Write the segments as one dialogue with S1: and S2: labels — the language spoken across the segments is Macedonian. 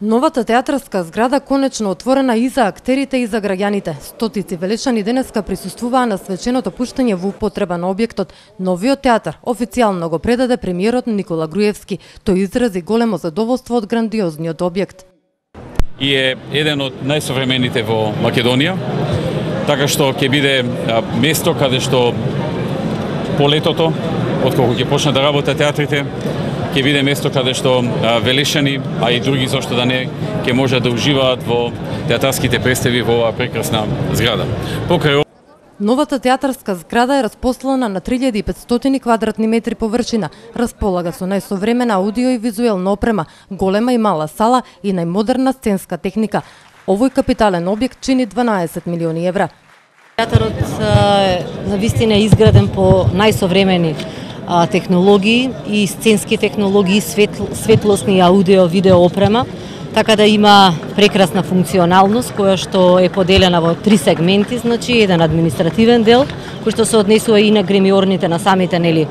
S1: Новата театарска зграда конечно отворена и за актерите и за граѓаните. Стотици велешани денеска присуствуваа на свеченото пуштање во употреба на објектот. Новиот театар официјално го предаде премиерот Никола Груевски. Тој изрази големо задоволство од грандиозниот објект.
S2: И е еден од најсовремените во Македонија, така што ќе биде место каде што по летото, отколку ќе почнат да работат театрите, ќе биде место каде што велешани, а и други зошто да не, ќе можат да уживаат во театарските представи во оваа прекрасна зграда. Покрај
S1: Новата театарска зграда е распослана на 3500 квадратни метри површина, располага со најсовремена аудио и визуелна опрема, голема и мала сала и најмодерна сценска техника. Овој капитален објект чини 12 милиони евра.
S3: Театарот навистина е изграден по најсовремени технологии и сценски технологии, светлосни аудио, видео опрема, така да има прекрасна функционалност која што е поделена во 3 сегменти, значи еден административен дел кој што се однесува и на гримиорните на самите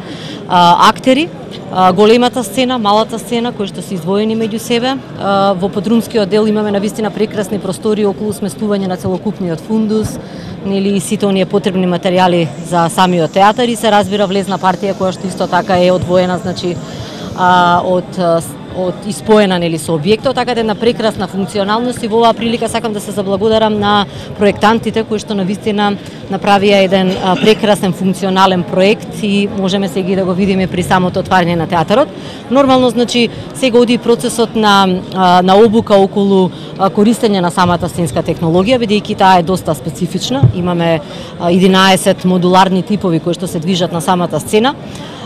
S3: актери, големата сцена, малата сцена кои што се издвоени меѓу себе. Во подрумскиот дел имаме навистина прекрасни простори околу сместување на целокупниот фундус, и сите оние потребни материјали за самиот театар и се разбира влезна партија која што исто така е одвоена, значи од испоена со објектот, така да една прекрасна функционалност и во оваа прилика сакам да се заблагодарам на проектантите кои што навистина направија еден прекрасен функционален проект и можеме сега да го видиме при самото отварање на театарот. Нормално, значи, сега оди процесот на обука околу користење на самата сценска технологија, бидејќи таа е доста специфична. Имаме 11 модуларни типови кои што се движат на самата сцена,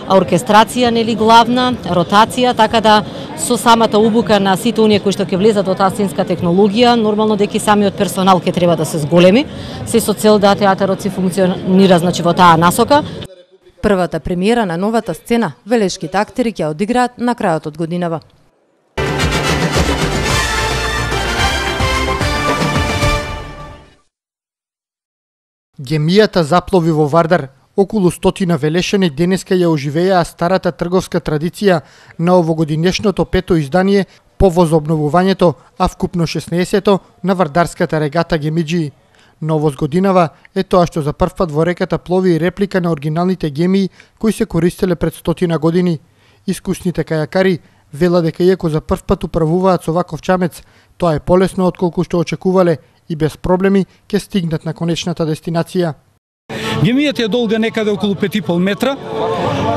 S3: оркестрација, главна, ротација, така да со самата обука на сите оние кои што ќе влезат во таа сценска технологија, нормално дека самиот персонал ќе треба да се зголеми, се со цел да театарот се функционира, значи, во таа насока.
S1: Првата премиера на новата сцена велешките актери ќе одиграат на крајот од годинава.
S4: Гемијата заплови во Вардар. Околу 100 велешани денеска ја оживеа старата трговска традиција на овогодинешното 5-то издание по возобновувањето, а вкупно 16-то на вардарската регата Гемиџии. Новост годинава е тоа што за прв пат во реката плови реплика на оригиналните гемии кои се користеле пред 100 години. Искусните кајакари велат дека иако за прв пат управуваат со ваков чамец, тоа е полесно отколку што очекувале и без проблеми ќе стигнат на конечната дестинација.
S5: Гемијата е долга некаде околу 5,5 метра,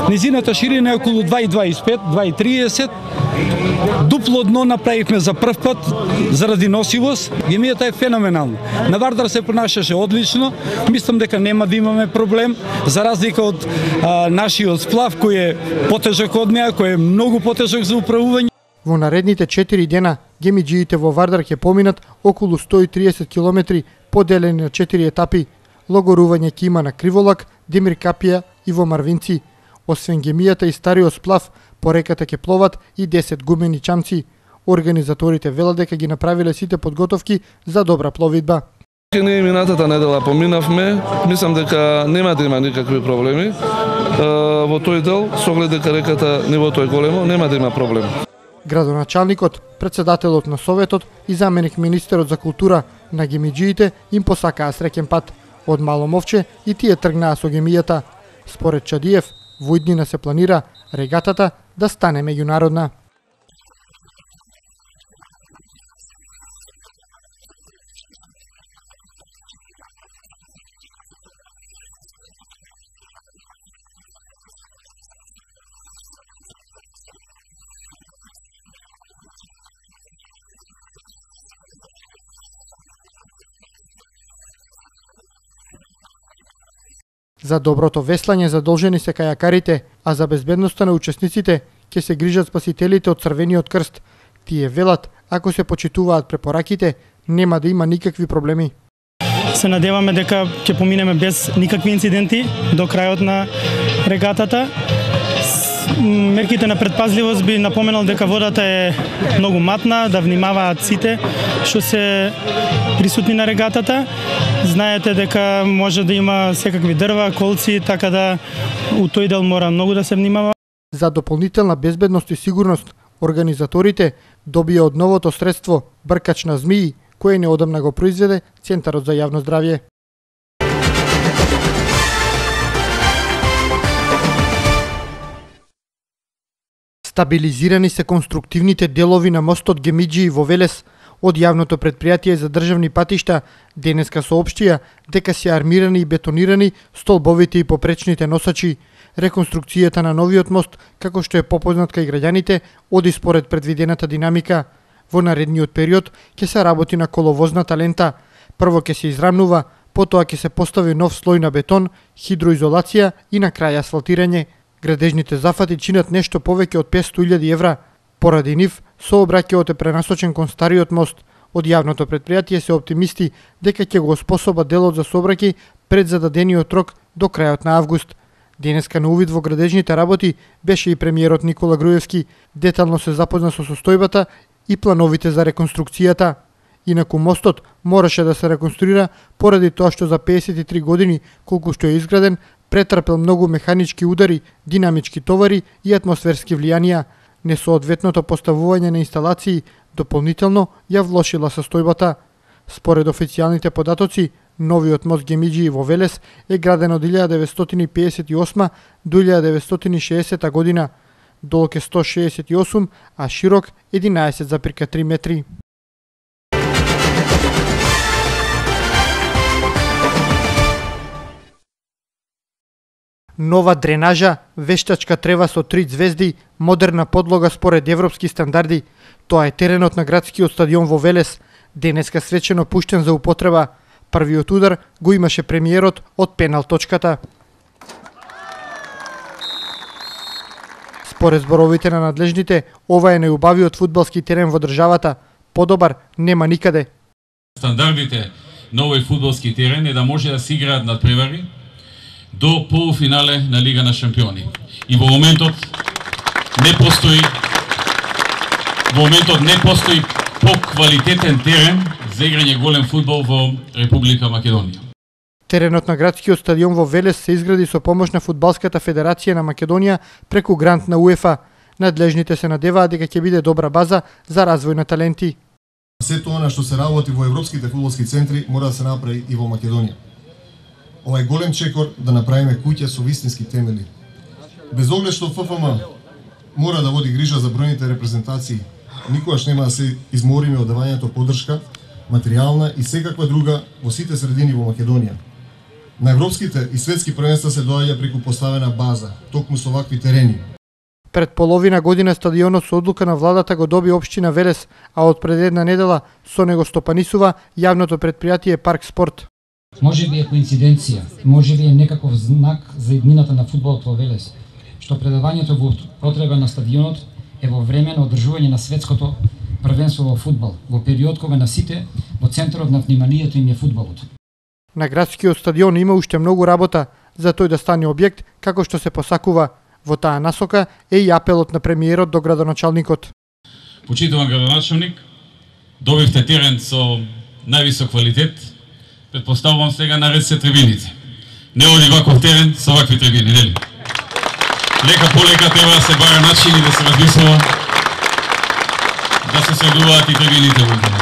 S5: низината ширина е околу 2,25, 2,30. Дупло дно направивме за прв пат заради носивост. Гемијата е феноменална. На Вардар се понашаше одлично. Мислам дека нема да имаме проблем, за разлика од нашиот сплав кој е потежок од неа, кој е многу потежок за управување.
S4: Во наредните 4 дена Гемиџиите во Вардар ќе поминат околу 130 километри поделени на 4 етапи. Логорување ќе има на Криволак, Демир Капија и во Марвинци. Освен гемијата и стариот сплав, по реката ќе пловат и 10 гумени чамци. Организаторите велат дека ги направиле сите подготовки за добра пловидба.
S6: Ние минатата недела поминавме, мислам дека нема да има никакви проблеми. Во тој дел, со оглед дека реката нивото е големо, нема да има проблем.
S4: Градоначалникот, председателот на Советот и заменик министерот за култура на Гемиџиите им посакаа среќен пат. Од Мало Мовче и тие тргнаа со гемијата. Според Чадиев, во иднина се планира регатата да стане меѓународна. За доброто веслање задолжени се кајакарите, а за безбедноста на учесниците ќе се грижат спасителите од Црвениот крст. Тие велат, ако се почитуваат препораките, нема да има никакви проблеми.
S7: Се надеваме дека ќе поминеме без никакви инциденти до крајот на регатата. Мерките на предпазливост би напоменал дека водата е многу матна, да внимаваат сите што се присутни на регатата. Знаете дека може да има секакви дрва, колци, така да у тој дел мора многу да се внимава.
S4: За дополнителна безбедност и сигурност, Организаторите добија од новото средство бркач на змии, кое неодамна го произведе Центарот за јавно здравје. Стабилизирани се конструктивните делови на мостот Гемиџи во Велес. Од јавното претпријатие за државни патишта денеска соопштија дека се армирани и бетонирани столбовите и попречните носачи. Реконструкцијата на новиот мост, како што е попознат кај граѓаните, оди според предвидената динамика. Во наредниот период ќе се работи на коловозната лента. Прво ќе се израмнува, потоа ќе се постави нов слој на бетон, хидроизолација и на крај асфалтирање. Градежните зафати чинат нешто повеќе од 500.000 евра. Поради нив, сообраќајот е пренасочен кон стариот мост. Од јавното претпријатие се оптимисти дека ќе го способа делот за сообраќај пред зададениот рок до крајот на август. Денеска на увид во градежните работи беше и премиерот Никола Груевски. Детално се запозна со состојбата и плановите за реконструкцијата. Инаку мостот мораше да се реконструира поради тоа што за 53 години колку што е изграден, претрпел многу механички удари, динамички товари и атмосферски влијанија. Несоодветното поставување на инсталации дополнително ја влошила состојбата. Според официјалните податоци, новиот мост Гемиџи во Велес е граден од 1958 до 1960 година. Долг е 168, а широк 11,3 метри. Нова дренажа, вештачка трева со 3 звезди, модерна подлога според европски стандарди. Тоа е теренот на градскиот стадион во Велес, денеска свечено пуштен за употреба. Првиот удар го имаше премиерот од пенал точката. Според зборовите на надлежните, ова е најубавиот фудбалски терен во државата. Подобар нема никаде.
S2: Стандардите на овој фудбалски терен е да може да се играат надпревари до полуфинале на Лига на шампиони. И во моментот не постои поквалитетен терен за играње голем фудбал во Република Македонија.
S4: Теренот на градскиот стадион во Велес се изгради со помош на Фудбалската федерација на Македонија преку грант на УЕФА. Надлежните се надеваат дека ќе биде добра база за развој на таленти.
S8: Сето она што се работи во европските фудбалски центри мора да се направи и во Македонија. Ова е голем чекор да направиме куќа со вистински темели. Без оглед што ФФМ мора да води грижа за бројните репрезентации, никогаш нема да се измориме од давањето поддршка, материјална и секаква друга во сите средини во Македонија. На европските и светски првенства се доаѓа преку поставена база, токму со вакви терени.
S4: Пред половина година стадионот со одлука на владата го доби општина Велес, а од пред една недела со него стопанисува јавното претпријатие Парк Спорт.
S9: Може би е коинциденција, може би е некаков знак за иднината на фудбалот во Велес, што предавањето во потреба на стадионот е во време на одржување на светското првенство во фудбал, во период кога на сите во центарот на вниманието им е фудбалот.
S4: На градскиот стадион има уште многу работа за тој да стане објект како што се посакува. Во таа насока е и апелот на премиерот до градоначалникот.
S2: Почитуван градоначалник, добивте терен со највисок квалитет. Предпоставувам сега наред се трибините. Не оди ваков терен со вакви трибини, нели? Лека по лека треба да се бара начини да се размислува да се средуваат и трибините во